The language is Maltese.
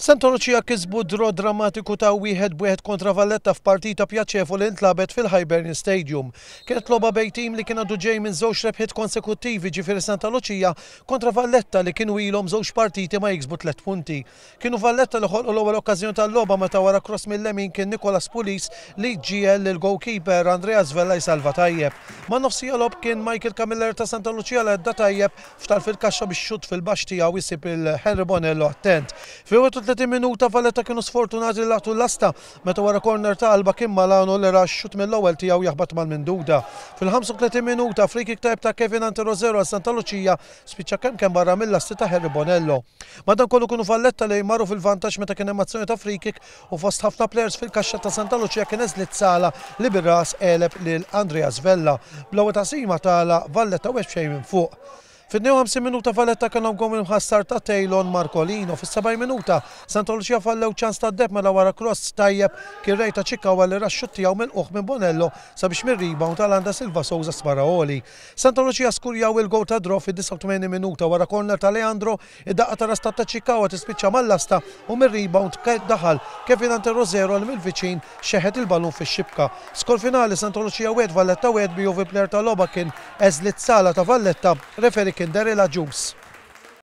Santa Lucia kisbu draw drammatiku ta' 1-1 kontra Valletta f'partita pjaċevoli li ntlagħbet fil-Hibernian Stadium. Kienet logħba bejn tim li kien għadu ġej minn żewġ rebħiet konsekuttivi ġifieri Santa Lucia kontra Valletta li kienu ilhom żewġ partiti ma jiksbu tlett punti. Kienu Valletta li ħolqu l-ewwel okkażjoni tal-logħba meta wara cross mil-lemin kien Nicolas Pulis li ġiegħel lill-goalkeeper Andreas Vella jsalva tajjeb. Man-nofsija logħob kien Michael Camilleri ta' Santa Lucia li għadda tajjeb F'tarf il-kaxxa bix-xutt fil-baxx tiegħu jsib lil Henry Bonello attent. Fil-31 minuta Valletta kienu sfortunati li laqtu l-lasta meta wara korner ta' Alba kien Malano li ra x-xutt mill-ewwel tiegħu jaħbat mal-minduda. Fil-35 minuta free-kick tajjeb ta' Kevin Anterozero għal Santa Lucia spiċċa kemm kemm barra mil-lasti ta' Henry Bonello. Madankollu kienu Valletta li marru fil-vantaġġ meta kien hemm azzjoni ta' free-kick u fost ħafna plejers fil-kaxxa ta' Santa Lucia kien Eslit Sala li bir-ras għeleb lil Andreas Vella. Bl-ewwel taqsima tagħlaq Valletta wieħed b'xejn minn fuq. Fit-52 minuta Valletta kellhom gowl imħassar ta' Taylon Marcolino. Fis-70 minuta Santa Lucia fallew ċans tad-deheb mela wara cross tajjeb kien Ray ta' Chikawa li ra x-xutt tiegħu milqugħ minn Bonello sabiex mir-rebound għal Anda Silva Souza spara għoli. Santa Lucia skurjaw il-gowl tad-draw fid-89 minuta wara corner ta' Leandro Id-daqqa ta' ras ta' Tachikawa tispiċċa mal-lasta u mir-rebound daħal Kevin Ante Rosero li mill-viċin xeħet il-ballun fix-xibka. Skor finali Santa Lucia 1 Valletta 1 bi Juve player tal-logħba kien Eslit Sala ta' Valletta, referee kien Daryl Agius.